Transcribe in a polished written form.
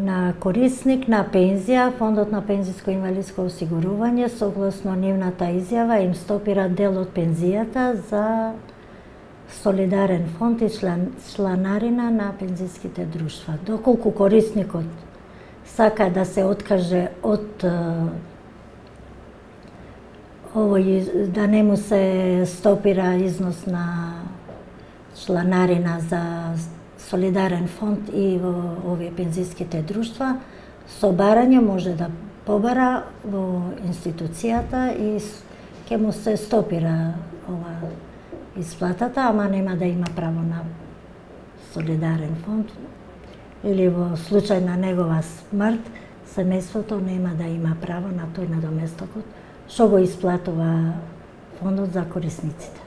на корисник на пензија, Фондот на пензиско инвалидско осигурување согласно нивната изјава им стопира дел од пензијата за солидарен фонд и чланарина на пензиските друштва. Доколку корисникот сака да се откаже од овој, да не му се стопира износ на чланарина за солидарен фонд и во овие пензиските друштва, со барање може да побара во институцијата и ќе му се стопира ова исплатата, ама нема да има право на солидарен фонд, или во случај на негова смрт, семејството нема да има право на тој надоместокот што го исплатува фондот за корисниците.